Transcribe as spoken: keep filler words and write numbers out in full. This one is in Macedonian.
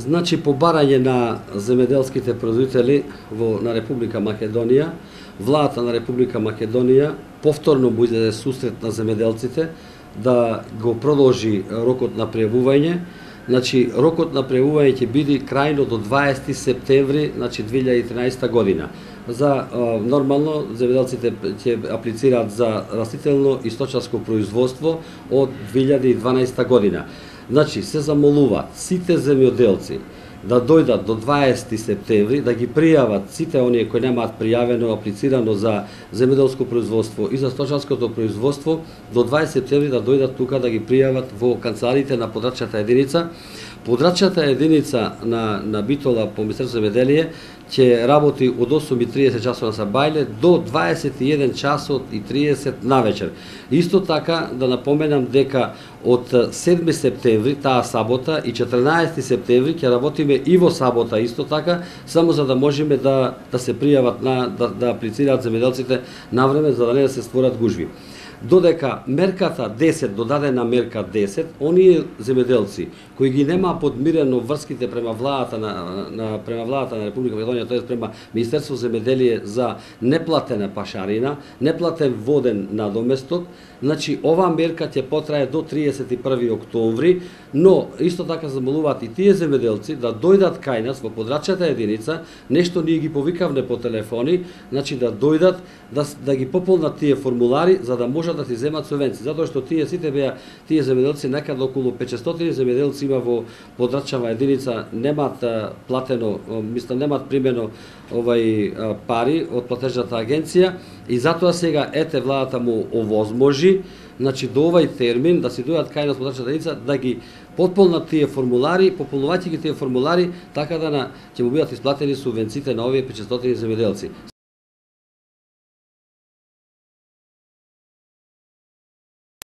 Значи, по барање на земеделските производители во на Република Македонија, владата на Република Македонија повторно му издаде сусрет на земеделците да го продолжи рокот на пријавување. Значи, рокот на пријавување ќе биде крајно до дваесети септември, значи две илјади и транаесетта година. За нормално земеделците ќе аплицираат за растително и сточарско производство од две илјади и дванаесетта година. Значи, се замолуваат сите земјоделци да дојдат до дваесети септември, да ги пријават сите оние кои немаат пријавено, аплицирано за земјоделско производство и за сточарското производство, до дваесети септември да дојдат тука да ги пријават во канцелариите на подрачната единица. Подрачната единица на, на Битола по Министерство земјоделие ќе работи од осум и триесет часот на сабајле до дваесет и еден часот и триесет навечер. Исто така да напоменам дека од седми септември, таа сабота, и четрнаесети септември ќе работиме и во сабота исто така, само за да можеме да, да се пријават, на, да, да аплицираат земјоделците на време, за да не да се створат гужви. Додека мерката десет, додадена мерка десет, оние земјоделци кои ги нема подмирено врските према владата на, на према владата на Република Македонија, тоест према Министерство земјоделие за неплатена пашарина, неплатен воден надоместок, значи оваа мерка ќе потрае до триесет и први октомври, но исто така замолуваат и тие земјоделци да дојдат кај нас во подрачната единица, нешто ние ги повикавме по телефони, значи да дојдат да, да ги пополнат тие формулари за да можат да си земат субвенции, затоа што тие сите беа тие земјоделци, некаде околу петстотини земјоделци има во подрачна единица, немаат платено, мислам немаат примено овај пари од платежната агенција и затоа сега ете владата му овозможи, значи до овај термин да си дојдат кај нас подрачната единица да ги потполнат тие формулари, пополнувајќи ги тие формулари, така да на ќе му бидат исплатени субвенциите на овие петстотини земјоделци.